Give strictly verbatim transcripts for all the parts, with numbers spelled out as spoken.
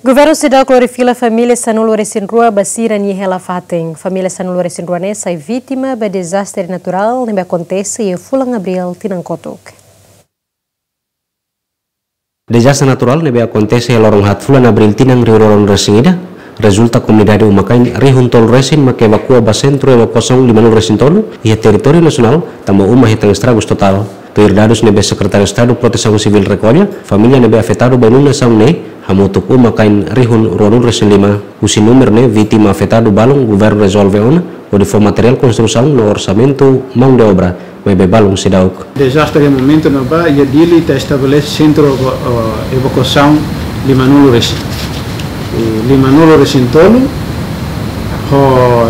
Governu seidauk lori fila família sanulu-resin-rua ba sira-nia hela fatin. Família sanulu-resin-rua ne'e sai vítima ba dezastre naturál ne'ebé akontese iha fulan Abríl tinan kotuk. Dezastre naturál ne'ebé akontese iha loron haat fulan Abríl tinan rihun rua ruanulu-resin-ida, rezulta komunidade uma-kain rihun tolu resin mak evakua ba Sentru Evakuasaun limanulu-resin-tolu iha territóriu nasionál, tanba uma hetan estragus totál. Tuir dadus ne'ebé Sekretáriu Estadu Protesaun Sivíl rekolla, família ne'ebé afetadu ba inundasaun ne'e hamutuk uma-kain rihun ruanulu-resin-lima. Husi númeru ne'e, vítima afetadu balun governu rezolve ona hodi fó materiál konstrusaun no orsamentu mão de obra, maibé balun seidauk. Dezastre iha momentu ne'ebá iha Dili ita estabelese sentru, eh, evakuasaun limanulu-resin. I limanulu-resin-tolu, ho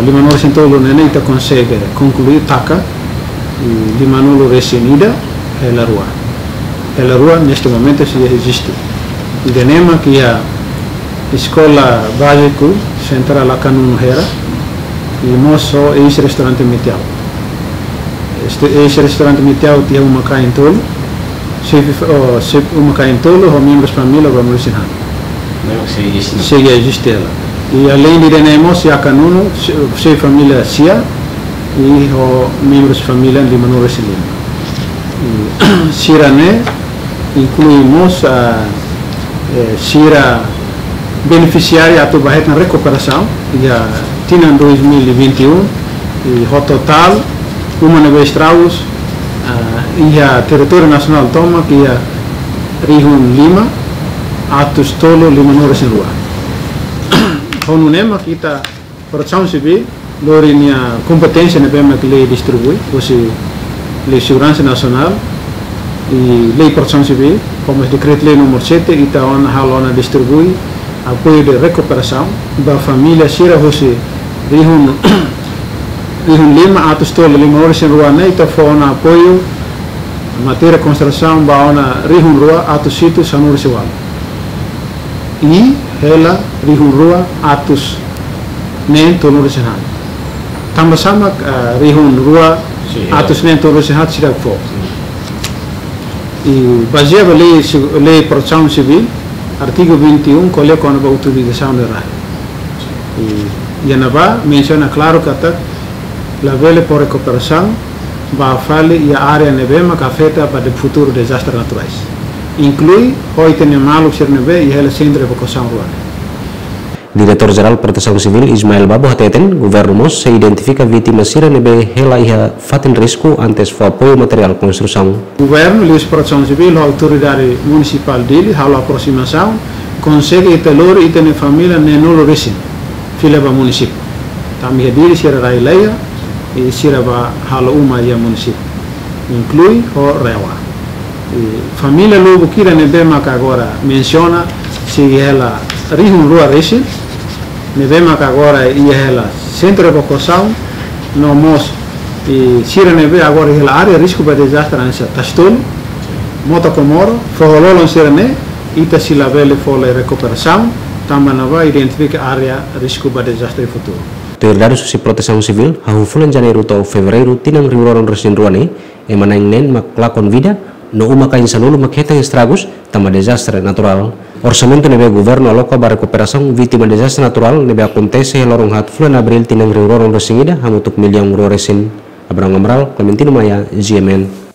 limanulu-resin-tolu ne'e ita konsege konklui taka, i limanulu-resin-ida, hela rua. Hela rua neste momentu sei eziste. Ida-ne'e mak iha Eskola Báziku Sentrál Akanunu Hera, i mós ho eis-restaurante Mitiau. Este eis-restaurante Mitiau iha uma-kain tolu, xefe fa-, oh, xefe uma-kain tolu, ho membrus família ba muisin han. Não, sei eziste. Sei eziste hela. I aleinde ida-ne'e mós iha Akanunu, xefe, xefe família sia, i ho membrus família limanulu-resin-lima. I sira-ne'e inklui mós, ah, eh, sira benefisiáriu atu ba hetan rekuperasaun iha tinan dois mil e vinte e um, i ho totál uma ne'ebé estragus, ah, iha territóriu nasionál tomak iha rihun lima atus tolu limanulu-resin-rua. Ho nune'e mak ita Protesaun Sivíl lori nia kompeténsia ne'ebé mak lei distribui, husi Lei Seguransa Nasionál i Lei Protesaun Sivíl, ho mós Dekretu-Lei númeru sete, ita ona halo ona distribui apoiu de rekuperasaun ba família sira husi rihun, rihun lima atus tolu limanulu-resin-rua ne'e, ita fó ona apoiu matéria konstrusaun ba ona rihun rua atus hitu sanulu-resin-ualu. I hela rihun rua atus neen tolunulu-resin-haat. Tanba sá mak, ah, rihun rua atus neen tolunulu-resin-haat seidauk fó. I bazeia ba lei si-, lei Protesaun Sivíl, artigu vinte e um, ko'alia kona-ba utilizasaun de rai. I, iha ne'ebá mensiona klaru katak labele fó rekuperasaun ba fali iha área ne'ebé mak afeta ba de futuru dezastre naturais. Inklui ho ita-nia maluk sira ne'ebé iha hela sentru evakuasaun rua ne'e. Diretór Jerál Protesaun Sivíl Ismael Babo hateten, governu mós sei identifika vítima sira ne'ebé hela iha fatin risku antes fó apoiu materiál konstrusaun. Governu, liuhusi Protesaun Sivíl, ho autoridade munisipál Dili, halo aprosimasaun, konsege ita lori ita-nia família neenulu-resin fila ba munisípiu. Tanba iha Dili sira rai laiha, i sira bá halo uma iha munisípiu, inklui ho RAEOA. I família lubuk ida ne'ebé mak agora mensiona, sei hela rihun rua resin, ne'ebé mak agora iha hela sentru evakuasaun, no mós, i sira ne'ebé agora iha hela área risku ba dezastre hanesan Tasi Tolu, Mota Komoro, Foho Lolon sira-ne'e, ita sei labele fó rekuperasaun, tanba ne'ebá identifika área risku ba dezastre futuru. Tuir dadus husi Protesaun Sivíl, hahú fulan Janeiru to'o Fevereiru tinan rihun rua ruanulu-resin-rua ne'e, ema na'in neen mak lakon vida, no uma-kain sanulu mak hetan estragus, tanba dezastre naturál. Orsamentu ne'ebé governu aloka ba rekuperasaun vítima dezastre naturál ne'ebé akontese iha loron haat fulan Abríl tinan rihun rua ruanulu-resin-ida hamutuk millaun rua resin. Abraham Amaral, Clementino Maia, G M N.